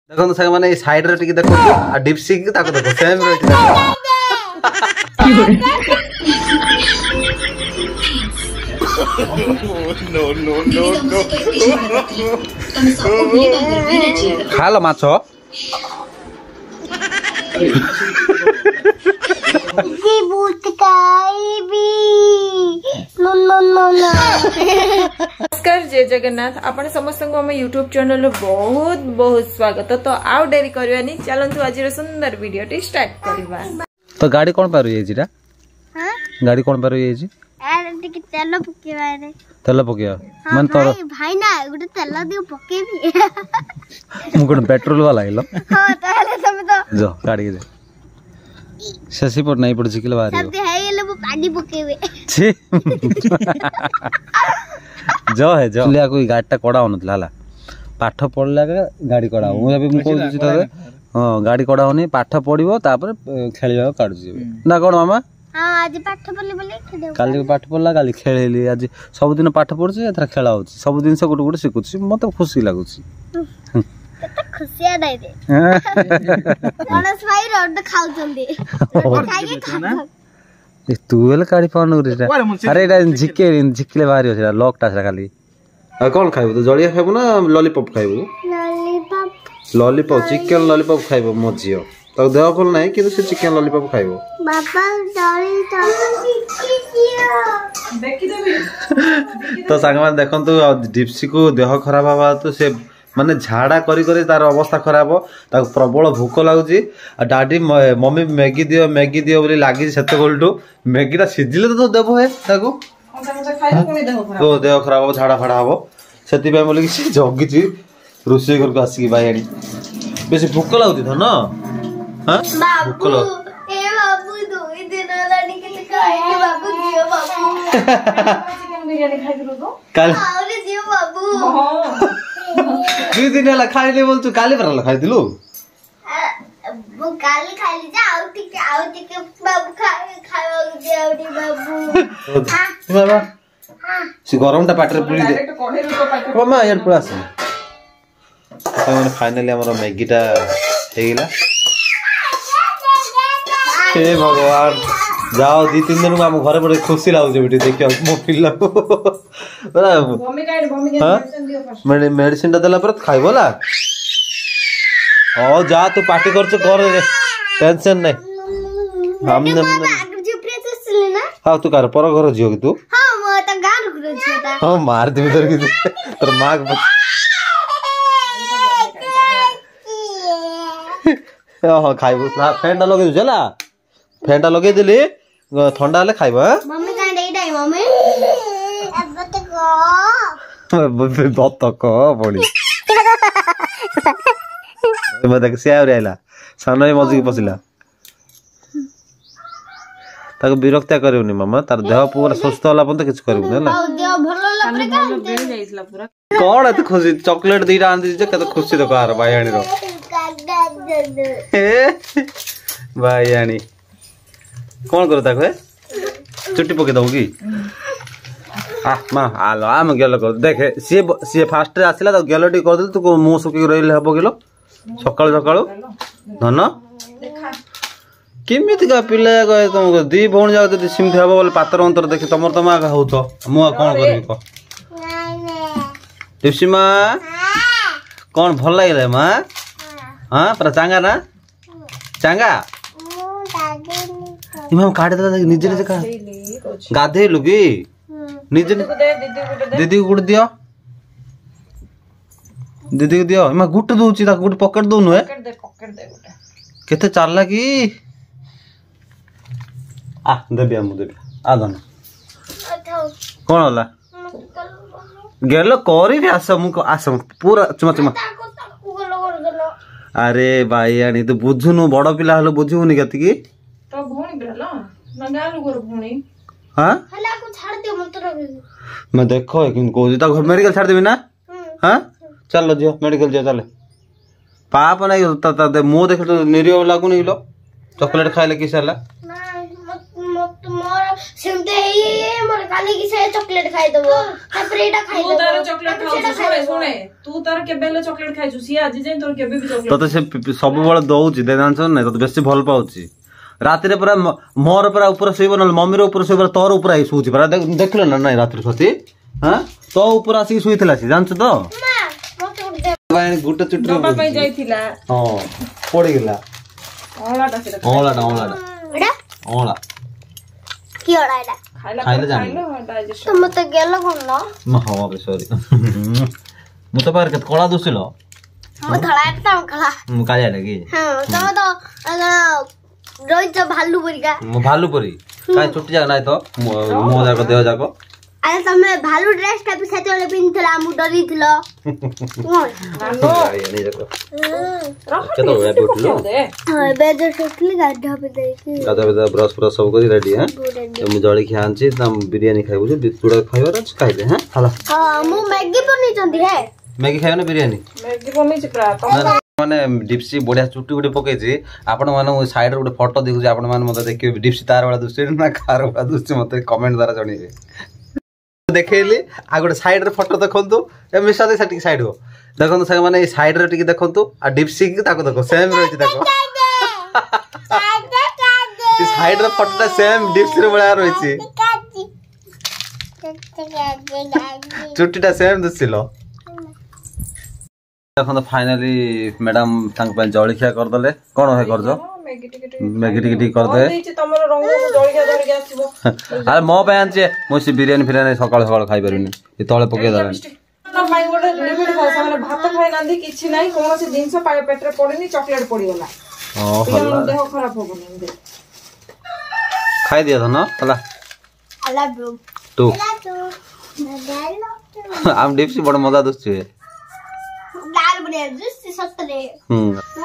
ଦେଖନ୍ତୁ ସାଙ୍ଗମାନେ, ଏଇ ସାଇଡରେ ଟିକେ ଦେଖନ୍ତୁ ଆଉ ଡିପସିକ୍ ତାକୁ ଦେଖ, ସେମ୍ ରହିଛି। ଖାଲ ମାଛ। ନମସ୍କାର, ଜୟ ଜଗନ୍ନାଥ। ଆପଣ ସମସ୍ତଙ୍କୁ ଆମ ୟୁଟ୍ୟୁବ ଚ୍ୟାନେଲରେ ବହୁତ ବହୁତ ସ୍ୱାଗତ। ତ ଆଉ ଡେରି କରିବାନି, ଚାଲନ୍ତୁ ଆଜିର ସୁନ୍ଦର ଭିଡିଓଟି ଷ୍ଟାର୍ଟ କରିବା। ତ ଗାଡି କଣ ପାଇଁ ରହିଯାଇଛି ଏଇଟା? ଗାଡି କଣ ପାଇଁ ରହିଯାଇଛି? ଟିକେ ତେଲ ପକେଇବାରେ। ତେଲ ପକେଇବା ମାନେ ତୋର ଭାଇ ନା ଗୋଟେ ତେଲ ଦିଅ ପକେଇବି। ମୁଁ କଣ ପେଟ୍ରୋଲ ବାଲା ହେଲ? ହଁ, ତାହେଲେ ତମେ ତ ଯ ଗାଡିକି ଯା। ଶେଷି ପଟ ନାଇଁ, ଏପଟେ ଝିକିଲେ ବାହାରିବ। ସେମିତି ହେଇଗଲେ ମୁଁ ପାଣି ପକେଇବି। ଛି, ଜ ହେ ଜ। ଆକୁ ଏଇ ଗାଡିଟା କଡା ହଉନଥିଲା ହେଲା, ପାଠ ପଢିଲା ଗାଡି କଡା ହବ। ମୁଁ ଏବେ ମୁଁ କହୁଛି ତତେ, ହଁ, ଗାଡି କଡା ହଉନି, ପାଠ ପଢିବ ତାପରେ ଖେଳିବାକୁ କାଢୁଛି ଏବେ ନା କଣ ମାମା? ଆଜି ପାଠ ପଢିଲି ବୋଲି, କାଲି ପାଠ ପଢିଲା, କାଲି ଖେଳିଲି, ଆଜି ସବୁଦିନ ପାଠ ପଢୁଛି, ଏଥର ଖେଳ ହଉଛି, ସବୁ ଜିନିଷ ଗୋଟେ ଗୋଟେ ଶିଖୁଛି, ମତେ ଖୁସି ଲାଗୁଛି। କେତେ ଖୁସିଆ ନାଇଁ। ଗଣେଶ ଭାଇ ରଡ ଖାଉଛନ୍ତି। ତୁ ହେଲେ କାଢି ପାଉନୁ। ଆରେ ଏଇଟା ଝିକେ ଝିକିଲେ ବାହାରିବ, ସେଟା ଲକ୍ ଟା ସେଟା ଖାଲି। ଆଉ କଣ ଖାଇବୁ ତୁ? ଜଳିଆ ଖାଇବୁ ନା ଲଲିପପ୍ ଖାଇବୁ? ଲଲିପପ୍, ଚିକେନ ଲଲିପପ୍ ଖାଇବ ମୋ ଝିଅ। ତାକୁ ଦେହ ଭଲ ନାହିଁ କିନ୍ତୁ ସେ ଚିକେନ ଲଲିପପ୍ ଖାଇବ। ତ ସାଙ୍ଗମାନେ ଦେଖନ୍ତୁ, ଡିପ୍ସିକୁ ଦେହ ଖରାପ ହେବା ତ ସେ ମାନେ ଝାଡ଼ା କରି କରି ତାର ଅବସ୍ଥା ଖରାପ, ତାକୁ ପ୍ରବଳ ଭୋକ ଲାଗୁଛି। ଆଉ ଡାଡି ମମି ମ୍ୟାଗି ଦିଅ ମ୍ୟାଗି ଦିଅ ବୋଲି ଲାଗିଛି ସେତେବେଳଠୁ। ମ୍ୟାଗିଟା ସିଝିଲେ ତ ଦେବ ହେ ତାକୁ, ତୋ ଦେହ ଖରାପ ହବ, ଝାଡ଼ା ଫାଡ଼ା ହବ, ସେଥିପାଇଁ ବୋଲିକି ସେ ଜଗିଛି ରୋଷେଇ ଘରକୁ ଆସିକି। ବାଇଆଣି, ବେଶୀ ଭୋକ ଲାଗୁଛି ଧନ? ହଁ, ଭୋକ କାଲି 2 ଦିନ ହେଲା ଖାଇଲି ବୋଲଛୁ, କାଲି ପରା ଖାଇଥିଲୁ। ମୁଁ କାଲି ଖାଇଲି ଯେ ଆଉ ଟିକେ, ଆଉ ଟିକେ ବାବୁ ଖାଇବାକୁ ଦିଅ, ଆଉ ଟିକେ ବାବୁ। ସେ ଗରମଟା ପାଟିରେ ପୁରେଇ ଦେ ମାମା, ଇଆଡ଼େ ପଳେଇ ଆସ। ମାନେ ଫାଇନାଲି ଆମର ମ୍ୟାଗିଟା ହେଇଗଲା। ହେ ଭଗବାନ, ଯାଅ 2 3 ଦିନକୁ ଆମ ଘରେ ବଡ ଖୁସି ଲାଗୁଛି ଏଠି ଦେଖିବାକୁ ମୋ ପିଲାକୁ। ମେଡିସିନ ଟା ଦେଲା ପରେ ଖାଇବ ହେଲା। ହଉ ଯା, ତୁ ପାଟି କରୁଛୁ କର, ଟେନସନ ନାଇଁ। ହଁ, ତୁ କାର ପର ଘର ଝିଅ କି ତୁ? ହଁ, ମାରିଦେବି ତୋର, କିନ୍ତୁ ତୋର ମା। ହଁ, ଖାଇବୁ। ଫ୍ୟାନ୍ ଟା ଲଗେଇ ଦଉଛି ହେଲା, ଫ୍ୟାନ୍ ଟା ଲଗେଇଦେଲି, ଥଣ୍ଡା ହେଲେ ଖାଇବ। ବତକ ପଡି ଦେଖ, ସେ ଆହୁରି ଆଇଲା, ସାନ ଭାଇ ମଝିକି ପଶିଲା। ତାକୁ ବିରକ୍ତିଆ କରିବୁନି ମାମା, ତାର ଦେହ ପୁରା ସୁସ୍ଥ ହେଲା ପର୍ଯ୍ୟନ୍ତ କିଛି କରିବୁନି ହେଲା। କଣ ଏତେ ଖୁସି? ଚକୋଲେଟ ଦିଟା ଆଣିଦେଇଛି ଯେ କେତେ ଖୁସି ଦେଖ ଆର ବାଇଆଣୀର। ବାଇଆଣୀ କଣ କର ତାକୁ? ଚୁଟି ପକେଇ ଦବୁ କି? ଆ ମା ଆଲୋ, ଆମ ଗେଲ କର ଦେଖେ। ସିଏ ଫାଷ୍ଟରେ ଆସିଲା, ତାକୁ ଗେଲ ଟିକେ କରିଦେଲି। ତୁ ମୁଁ ଶୁଖିକି ରହିଲେ ହବ କିଲୋ ସକାଳୁ ସକାଳୁ? ଧନ, କେମିତିକା ପିଲା ତମକୁ? ଦି ଭଉଣୀ ଯାକ ଯଦି ସେମିତି ହବ ବୋଲେ ପାତର ଅନ୍ତର ଦେଖି ତମର ତମ ଆଗ ହଉଛ, ମୁଁ ଆଉ କଣ କରିବି କହ? ଟିପ୍ସି ମା, କଣ ଭଲ ଲାଗିଲା ମା? ହଁ, ପୁରା ଚାଙ୍ଗା ନା ଚାଙ୍ଗା? ଇମାମ କାଢିଦେଲା ନିଜେ ନିଜେ। ଗାଧେଇଲୁ କି ନିଜେ? ଦିଦିକୁ ଗୋଟେ ଦିଅ, ଦିଦିକୁ ଦିଅ। ଇମା ଗୋଟେ ଦଉଛି ତାକୁ, ଗୋଟେ ପକେଟ ଦଉନୁ। ଏ କେତେ ଚାଲା କି? ଆ ଦେବି, ମୁଁ ଦେବି। ଆ ଧନ, କଣ ହେଲା? ଗେଲ କରିବି, ଆସ, ମୁଁ ଆସ ପୁରା ଚୁମା ଚୁମା। ଆରେ ବାଇଆଣୀ, ତୁ ବୁଝୁନୁ, ବଡ ପିଲା ହେଲେ ବୁଝିବୁନି କେତିକି? ହଁ, ଦେଖ କିନ୍ତୁ କହୁଛି ତାକୁ ମେଡିକାଲ ଛାଡ଼ିଦେବି ନା? ହଁ, ଚାଲ ଝିଅ, ମେଡିକାଲ ଝିଅ ଚାଲେ। ପାପ ନାଇଁ, ମୁଁ ଦେଖିଲେ ନିରୀହ ଲାଗୁନି କିଲୋ? ଚକୋଲେଟ ଖାଇଲେ କିସ ହେଲା? ମୋର ସେମିତି ହେଇ ହେଇ ମୋର କାଲିକି ସେ ଚକୋଲେଟ ଖାଇଦବ, ତାପରେ ଏଇଟା ତୁ ଖାଇଦବ। ତାର ଚକୋଲେଟ ତାପରେ ସେଇଟା ଖାଉଛୁ। ଶୁଣେ। ଖାଇଦବ। ଶୁଣେ, ତୁ ତାର କେବେ ହେଲେ ଚକୋଲେଟ ଖାଇଛୁ? ସିଏ ଆଜି ଯାଏଁ ତୋର କେବେ ବି ଚକୋଲେଟ ତତେ ସେ ସବୁବେଳେ ଦଉଛି ଦେ, ଜାଣିଛ ନା ନାଇଁ? ତତେ ବେଶୀ ଭଲ ପାଉଛି। ରାତିରେ ପୁରା ମୋର ପୁରା ଉପରେ ଶୋଇବ, ନହେଲେ ମମିର ଉପରେ ଶୋଇବ, ତୋର ଉପରେ ଆସି ଶୋଉଛି ପରା। ଦେଖିଲ ନା ନାଇଁ ରାତିରେ ସ୍ୱାତି? ହଁ, ତୋ ଉପରେ ଆସିକି ଶୋଇଥିଲା ସେ, ଜାଣିଛୁ ତ? ମା, ମତେ ଗୋଟେ ଦେ। ଗୋଟେ ଚୁଟିରେ ଦବା ପାଇଁ ଯାଇଥିଲା। ହଁ, ପଡିଗଲା। ଅଁଳାଟା ସେଟା। ଅଁଳାଟା, ଅଁଳାଟା। ଏଇଟା ଅଁଳା। କି ଅଁଳା ଏଇଟା? ଖାଇଲା ଖାଇଲେ ପରେ ଜାଣିବୁ। ଖାଇଲେ ଡାଇଜେସନ। ତ ମତେ ଗେଲ କଣ? ହଁ ବେ, ସରି। ମୁଁ ତ ପାଖରେ କେତେ କଳା ଦୁଶିଲ। ମୁଁ ଧଳା, ତମ କଳା। ମୁଁ କାଳିଆଟା କି? ହଁ, ତମେ ତ ରହିଛ ଭାଲୁ ପରିକା। ମୁଁ ଭାଲୁ ପରି କାଇଁ? ଚୁଟି ଯାକ ନାଇଁ ତ ମୁହଁ ଯାକ ଦେହ ଯାକ। ଆରେ, ତମେ ଭାଲୁ ଡ୍ରେସ ଟା ବି ସେତେବେଳେ ପିନ୍ଧିଥିଲ, ଆମକୁ ଡରିଥିଲ। କେତେବେଳେ ଏବେ ଉଠିଲୁ? ଏବେ ଜଷ୍ଟ ଉଠିଲି, ଗାଧୁଆ ଦେଇକି। ଗାଧୁଆ ପାଧୁଆ, ବ୍ରସ୍ ଫ୍ରସ୍ ସବୁ କରି ରେଡି। ହଁ, ମୁଁ ଜଳଖିଆ ଆଣିଛି, ତା ବିରିୟାନୀ ଖାଇବୁ ଯେ ଚୁଡ଼ା ଖାଇବାର ଅଛି ଖାଇଦେ। ହଁ, ହେଲା। ହଁ, ମୁଁ ମ୍ୟାଗି ବନେଇଛନ୍ତି ହେ। ମ୍ୟାଗି ଖାଇବ ନା ବିରିୟାନୀ? ମ୍ୟାଗି ବନେଇଛି ପୁରା। ନା ନା, ମାନେ ଡିପ୍ସି ବଢିଆ ଚୁଟି ଗୋଟେ ପକେଇଛି। ଆପଣ ମାନଙ୍କୁ ସାଇଡରେ ଗୋଟେ ଫଟୋ ଦେଖୁଛି, ଆପଣ ମାନେ ମତେ ଦେଖିବେ ଡିପ୍ସି ତାର ଭଳିଆ ଦୁଶୁଛି ନା କାହାର ଭଳିଆ ଦୁଶୁଛି, ମତେ କମେଣ୍ଟ ଦ୍ୱାରା ଜଣେଇବେ। ଦେଖେଇଲି, ଆଉ ଗୋଟେ ସାଇଡରେ ଫଟୋ ଦେଖନ୍ତୁ। ଏ ମିଶା ଦେଇ ଟିକେ ସାଇଡ ହୋ। ଦେଖନ୍ତୁ ସାଙ୍ଗମାନେ, ଏଇ ସାଇଡରେ ଟିକେ ଦେଖନ୍ତୁ ଆଉ ଡିପ୍ସି ତାକୁ ଦେଖ, ସେମ୍ ରହିଛି। ଦେଖ, ଏ ସାଇଡର ଫଟୋଟା ସେମ୍ ଡିପ୍ସିର ଭଳିଆ ରହିଛି, ଚୁଟିଟା ସେମ୍ ଦୁଶିଲ। ଦେଖନ୍ତୁ, ଫାଇନାଲି ମ୍ୟାଡାମ ତାଙ୍କ ପାଇଁ ଜଳଖିଆ କରିଦେଲେ। କଣ ଭାଇ କରୁଛ? ମ୍ୟାଗି ଟିକେ ଟିକେ। ମ୍ୟାଗି ଟିକେ ଟିକେ କରିଦେ। ଦେଇଛି ତମର ରଙ୍ଗ, ଜଳଖିଆ ଧରିକି ଆସିବ। ଆରେ, ମୋ ପାଇଁ ଆଣିଛି। ମୁଁ ସେ ବିରିୟାନୀ ଫିରିୟାନୀ ସକାଳୁ ସକାଳୁ ଖାଇପାରିବିନି, ଏ ତଳେ ପକେଇ ଦେଲାଣି। ତା ପାଇଁ ଗୋଟେ ଲିମିଟ ଥାଏ। ସେମାନେ ଭାତ ଖାଇନାହାନ୍ତି, କିଛି ନାହିଁ, କୌଣସି ଜିନିଷ ପେଟରେ ପଡିନି, ଚକୋଲେଟ ପଡିଗଲା। ହଁ, ହେଲା। ପିଲାମାନଙ୍କ ଦେହ ଖରାପ ହବନି ଏମିତି? ଖାଇଦିଅ ଧନ, ହେଲା। I love you. ତୁ I love you. I love you. ଆମ ଡିପ୍ସି ବଡ ମଜା ଦୁଶୁଛି। ଦାଲ ବଢିଆ ଜୁସ୍ ସତରେ। ହୁଁ,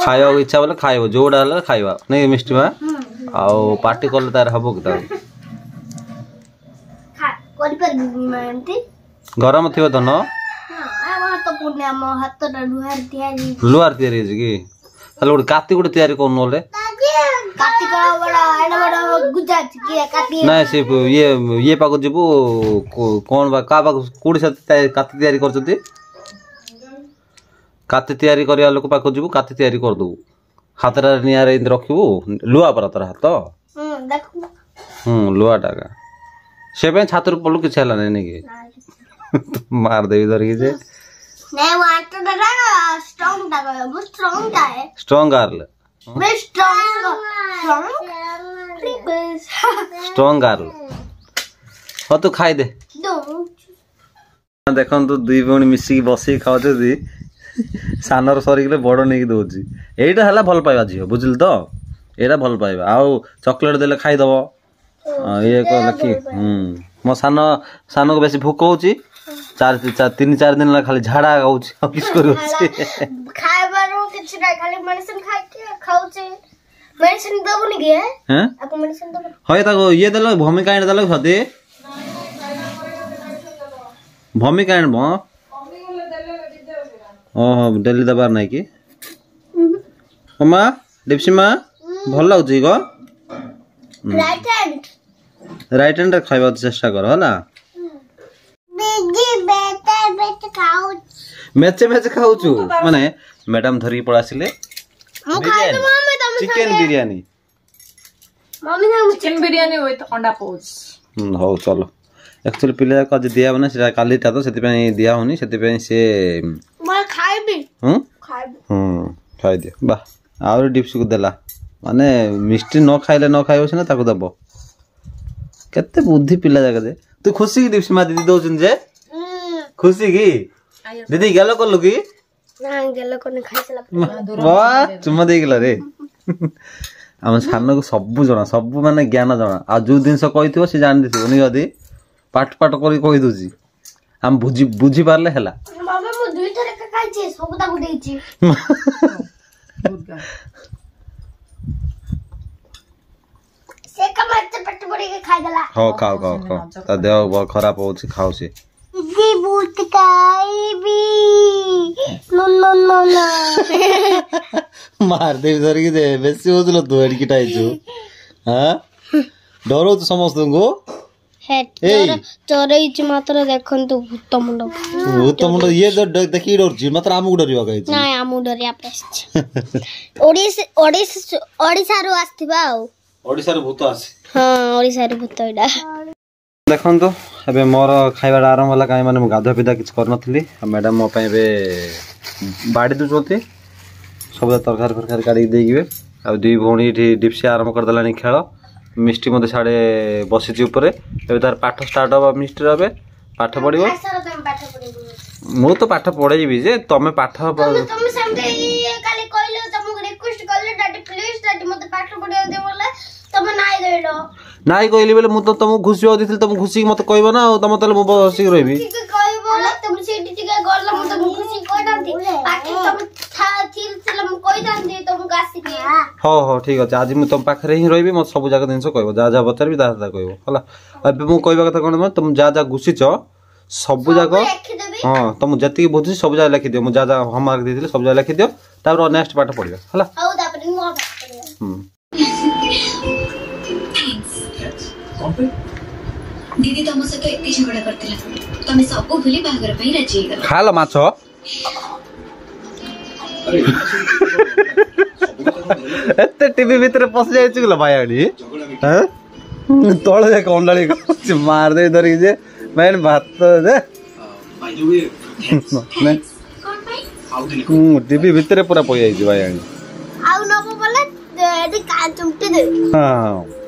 ଖାଇବାକୁ ଇଚ୍ଛା ବୋଲେ ଖାଇବ, ଯୋଉଟା ହେଲେ ଖାଇବା ନାଇଁ ମିଷ୍ଟି ମା। ଆଉ ପାର୍ଟି କଲେ ତାର ହବ କି ତାକୁ? କରିପାରିବି ମା ଏମିତି। ଗରମ ଥିବ ଧନ। ହଁ, ଆମ ହାତ ପୁଣି, ଆମ ହାତଟା ଲୁହାରେ ତିଆରି। ଲୁହାର ତିଆରି ହେଇଛି କି? ତାହେଲେ ଗୋଟେ କାତି ଗୋଟେ ତିଆରି କରୁନୁ ନହେଲେ। କାତି କଣ ବଡ ଏଡେ ବଡ ଗୁଜା ଅଛି କି କାତି? ନାଇଁ, ସେ ଇଏ ଇଏ ପାଖକୁ ଯିବୁ, କଣ ବା କାହା ପାଖକୁ, କୋଉଠି ସେ କାତି ତିଆରି କରୁଛନ୍ତି? କାତି ତିଆରି କରିବା ଲୋକ ପାଖକୁ ଯିବୁ, କାତି ତିଆରି କରିଦେବୁ। ହାତଟା ନିଆଁରେ ଏମିତି ରଖିବୁ, ଲୁହା ପରା ତୋର ହାତ। ହୁଁ, ଦେଖ। ହୁଁ, ଲୁହାଟା ଏକା। ସେ ପାଇଁ ଛାତରୁ ପଡିଲୁ, କିଛି ହେଲା ନାଇଁ ନାଇଁ କି? ମାରିଦେବି ଧରିକି ଯେ। ନାଇଁ, ମୁଁ ହାତଟା ଷ୍ଟ୍ରଙ୍ଗ ଟା କହିବ, ମୁଁ ଷ୍ଟ୍ରଙ୍ଗ ଟା ହେ। Strong girl. मैं स्ट्रॉन्ग स्ट्रॉन्ग ଷ୍ଟ୍ରଙ୍ଗ ଗାର୍ଲ। ହଉ, ତୁ ଖାଇଦେ। ଦେଖନ୍ତୁ, ଦୁଇ ଭଉଣୀ ମିଶିକି ବସିକି ଖାଉଛନ୍ତି। ସାନର ସରିଗଲେ ବଡ ନେଇକି ଦଉଛି। ଏଇଟା ହେଲା ଭଲ ପାଇବା ଝିଅ, ବୁଝିଲୁ ତ? ଏଇଟା ଭଲ ପାଇବା। ଆଉ ଚକୋଲେଟ ଦେଲେ ଖାଇଦବ, ଇଏ କହିଲେ କି? ହୁଁ, ମୋ ସାନ ସାନକୁ ବେଶୀ ଭୋକ ହଉଛି। ଚାରି ତିନି ଚାରି ଦିନ ହେଲା ଖାଲି ଝାଡା ହଉଛି, ଆଉ କିଛି କରିବ ସେ? ଖାଇବାରୁ କିଛି ନାହିଁ, ଖାଲି ମେଡିସିନ ଖାଇକି ଖାଉଛି। ମେଡିସିନ ଦବୁନି କି? ହେଁ? ତାକୁ ମେଡିସିନ ଦବୁନି? ହଇ, ତାକୁ ଇଏ ଦେଲ, ଭୂମିକା ଆଣି ଦେଲ ସଦି, ଭୂମିକା ଆଣିବ। ଓହୋ, ଡେଲି ଦେବାର ନାଇଁ କି? ଓ ମା, ଡିପ୍ସି ମା, ଭଲ ଲାଗୁଛି ଗ? Right hand. ରାଇଟ୍ ହ୍ୟାଣ୍ଡରେ ଖାଇବାକୁ ଚେଷ୍ଟା କର, ହେଲା? ଦିଦି, ବେଟା ବେଟା ଖାଉଛି। ମେଚେ ମେଚେ ଖାଉଛୁ। ମାନେ ମ୍ୟାଡାମ ଧରିକି ପଳେଇ ଆସିଲେ ମୁଁ ଖାଇବି ମମି ତମ ଚିକେନ ବିରିୟାନୀ। ମମି ସାଙ୍ଗେ। ଚିକେନ ବିରିୟାନୀ ୱିଥ୍ ଅଣ୍ଡା ପୋଚ୍। ହଉ ଚାଲ। ଆକ୍ଚୁଆଲି ପିଲା ଯାକ ଆଜି ଦିଆ ହବନି, ସେଟା କାଲିଟା ତ, ସେଥିପାଇଁ ଦିଆ ହଉନି। ସେଥିପାଇଁ ସେ ମୁଁ ଖାଇବି। ହୁଁ। ଖାଇବି। ହୁଁ, ଖାଇଦିଅ। ବା, ଆହୁରି ଡିପ୍ସିକୁ ଦେଲା। ମାନେ ମିଷ୍ଟି ନ ଖାଇଲେ ନ ଖାଇବ ସିନା, ତାକୁ ଦବ। କେତେ ବୁଦ୍ଧି ପିଲା ଯାକ ଯେ। ତୁ ଖୁସି କି ଡିପ୍ସି ମା, ଦିଦି ଦଉଛନ୍ତି ଯେ? ଖୁସି କି ଦିଦି? ଗେଲ କଲୁ କି? ନା, ଗେଲ କନି, ଖାଇସାରିଲା ପରେ। ବା, ଚୁମା ଦେଇଗଲା ରେ। ଆମ ସାନକୁ ସବୁ ଜଣା, ସବୁ ମାନେ ଜ୍ଞାନ ଜଣା। ଆଉ ଯୋଉ ଜିନିଷ କହିଥିବ ସେ ଜାଣିଦେଇଥିବ ନି, ଯଦି ପାଠ ପାଠ କରି କହିଦଉଛି। ଆମେ ବୁଝି ବୁଝିପାରିଲେ ହେଲା। ମାମା, ମୁଁ ଦୁଇଥର ଏକା ଖାଇଛି, ସବୁ ତାକୁ ଦେଇଛି। ସେ କାମ ଏତେ ପେଟ ଭରିକି ଖାଇଦେଲା। ହଉ, ଖାଅ ଖାଅ ଖାଅ, ତା ଦେହ ଖରାପ ହଉଛି, ଖାଉ ସେ। ଦିଦି, ବହୁତ ଖାଇବି। No no no no. ମାରିଦେବି ଧରିକି ଯେ, ବେଶୀ ହଉଥିଲ ତୁ। ଏଡ଼ିକିଟା ହେଇଛୁ, ହଁ, ଡରଉଛୁ ସମସ୍ତଙ୍କୁ। ଏଇ ଚରେଇଛି ମାତ୍ର ଦେଖନ୍ତୁ ଭୂତ ମୁଣ୍ଡ। ଭୂତ ମୁଣ୍ଡ ଇଏ ଦେଖିକି ଡରୁଛି, ମାତ୍ର ଆମକୁ ଡରିବାକୁ ହେଇଛି। ନାଇଁ, ଆମକୁ ଡରିବା ପାଇଁ ଆସିଛି। ଓଡ଼ିଶା, ଓଡ଼ିଶା, ଓଡ଼ିଶାରୁ ଆସିଥିବା ଆଉ ଓଡ଼ିଶାରୁ ଭୂତ ଆସେ। ହଁ, ଓଡ଼ିଶାରୁ ଭୂତ ଏଇଟା। ଦେଖନ୍ତୁ, ଏବେ ମୋର ଖାଇବାଟା ଆରମ୍ଭ ହେଲା। କାହିଁ ମାନେ ମୁଁ ଗାଧୁଆ ପିଧା କିଛି କରିନଥିଲି, ଆଉ ମ୍ୟାଡ଼ାମ୍ ମୋ ପାଇଁ ଏବେ ବାଡ଼ି ଦେଉଛନ୍ତି ସବୁ ତରକାରୀ ଫରକାରୀ କାଢ଼ିକି ଦେଇକିବେ। ଆଉ ଦୁଇ ଭଉଣୀ ଏଠି ଡିପ୍ସି ଆରମ୍ଭ କରିଦେଲାଣି ଖେଳ। ମିଷ୍ଟି ମଧ୍ୟ ସାଡ଼େ ବସିଛି ଉପରେ। ଏବେ ତାର ପାଠ ଷ୍ଟାର୍ଟ ହବ। ମିଷ୍ଟିର ଏବେ ପାଠ ପଢ଼ିବ। ସାର, ତମେ ପାଠ ପଢିବ? ମୁଁ ତ ପାଠ ପଢ଼େଇବି ଯେ ତମେ ପାଠ ତମେ ସେମିତି କାଲି କହିଲ, ତମକୁ ରିକ୍ୱେଷ୍ଟ କଲେ, ଡାଡି ପ୍ଲିଜ ଡାଡି ମତେ ପାଠ ପଢିବାକୁ ଦିଅ ବୋଲେ ତମେ ନାଇଁ ଦେଲ। ନାଇଁ କହିଲି ବୋଲେ ମୁଁ ତ ତମକୁ ଘୁଷିବାକୁ ଦେଇଥିଲି। ତମକୁ ଘୁଷିକି ମତେ କହିବ ନା, ଆଉ ତମ ତାହେଲେ ମୁଁ ବସିକି ରହିବି। ଟିକେ କହିବ ବୋଲେ ତମେ ସେଇଠି ଟିକେ ଗଲେ ମୁଁ ତମକୁ ଖୁସି କହିଥାନ୍ତି। ପାଖରେ ତମେ ଥିଲେ ମୁଁ କହିଥାନ୍ତି ତମକୁ ଆସିକି। ହଉ ହଉ, ଠିକ ଅଛି। ଆଜି ମୁଁ ତମ ପାଖରେ ହିଁ ରହିବି। ମତେ ସବୁ ଯାକ ଜିନିଷ କହିବ, ଯାହା ଯାହା ପଚାରିବି ତାହା ତାହା କହିବ, ହେଲା? ଏବେ ମୁଁ କହିବା କଥା କ'ଣ, ତମେ ଯାହା ଯାହା ଘୁଷିଛ ସବୁ ଯାକ ଲେଖିଦେବି। ହଁ, ତମ ଯେତିକି ବୁଝୁଛି ସବୁ ଯାକ ଲେଖିଦିଅ। ମୁଁ ଯାହା ଯାହା ହୋମୱାର୍କ ଦେଇଥିଲି ସବୁ ଯାକ ଲେଖିଦିଅ, ତାପରେ ନେକ୍ସଟ ପାଠ ପଢିବା, ହେଲା? ହଉ, ତାପରେ ନୂଆ ପାଠ ପଢିବା। ହୁଁ। କଣ ପାଇଁ? ଦିଦି ତମ ସହିତ ଏତେ ଝଗଡ଼ା କରିଥିଲା, ତମେ ସବୁ ଭୁଲି ବାହାଘର ପାଇଁ ରାଜି ହେଇଗଲ। ଖାଲ ମାଛ। ଆରେ, ଏଇଟା ସବୁ କଥା କଣ ଧରିଲେ? ଏତେ ଟିଭି ଭିତରେ ପଶି ଯାଇଛି କିଲୋ ଭାଇଆଣି? ଝଗଡ଼ା ବି ହେଁ? ତଳେ ଯାକ ଅଣ୍ଡାଳି ମାରିଦେଇ ଧରିକି ଯେ ଭାଇ ଭାତ ଦେ। Bai the we, thanks. କଣ ପାଇଁ? ଆଉ ଦିନେ ହୁଁ, ଟିଭି ଭିତରେ ପୁରା ପଶି ଯାଇଛି ଭାଇଆଣି। ଆଉ ନବ ବୋଲେ ଏଠି ଚୁମଟି ଦେବି। ହଁ।